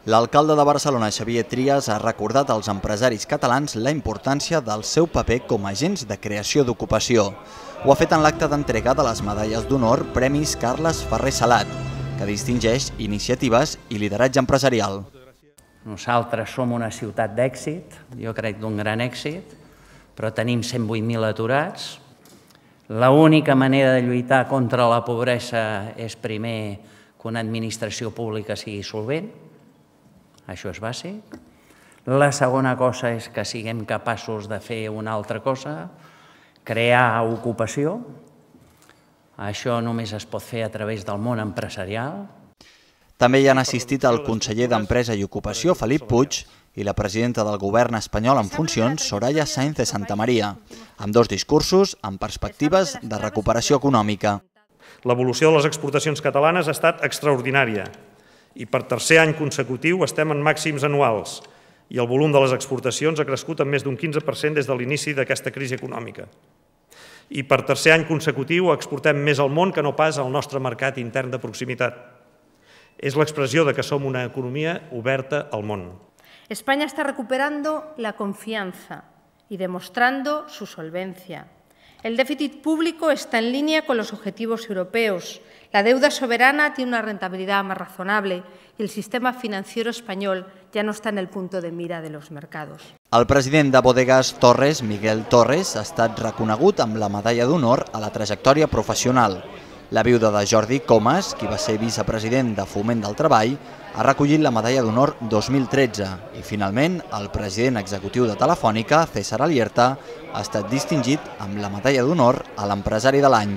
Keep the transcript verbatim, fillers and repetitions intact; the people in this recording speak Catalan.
L'alcalde de Barcelona, Xavier Trias, ha recordat als empresaris catalans la importància del seu paper com a agents de creació d'ocupació. Ho ha fet en l'acte d'entrega de les medalles d'honor Premis Carles Ferrer Salat, que distingeix iniciatives i lideratge empresarial. Nosaltres som una ciutat d'èxit, jo crec d'un gran èxit, però tenim cent vuit mil aturats. L'única manera de lluitar contra la pobresa és primer que una administració pública sigui solvent. Això és bàsic. La segona cosa és que siguem capaços de fer una altra cosa, crear ocupació. Això només es pot fer a través del món empresarial. També hi han assistit el conseller d'Empresa i Ocupació, Felip Puig, i la presidenta del govern espanyol en funcions, Soraya Sáenz de Santamaría, amb dos discursos amb perspectives de recuperació econòmica. L'evolució de les exportacions catalanes ha estat extraordinària i per tercer any consecutiu estem en màxims anuals i el volum de les exportacions ha crescut en més d'un quinze per cent des de l'inici d'aquesta crisi econòmica. I per tercer any consecutiu exportem més al món que no pas al nostre mercat intern de proximitat. És l'expressió de que som una economia oberta al món. España está recuperando la confianza y demostrando su solvencia. El déficit público está en línea con los objetivos europeos. La deuda soberana tiene una rentabilidad más razonable y el sistema financiero español ya no está en el punto de mira de los mercados. El president de Bodegas Torres, Miguel Torres, ha estat reconegut amb la medalla d'honor a la trajectòria professional. La viuda de Jordi Comas, qui va ser vicepresident de Foment del Treball, ha recollit la medalla d'honor dos mil tretze i, finalment, el president executiu de Telefònica, César Alierta, ha estat distingit amb la medalla d'honor a l'empresari de l'any.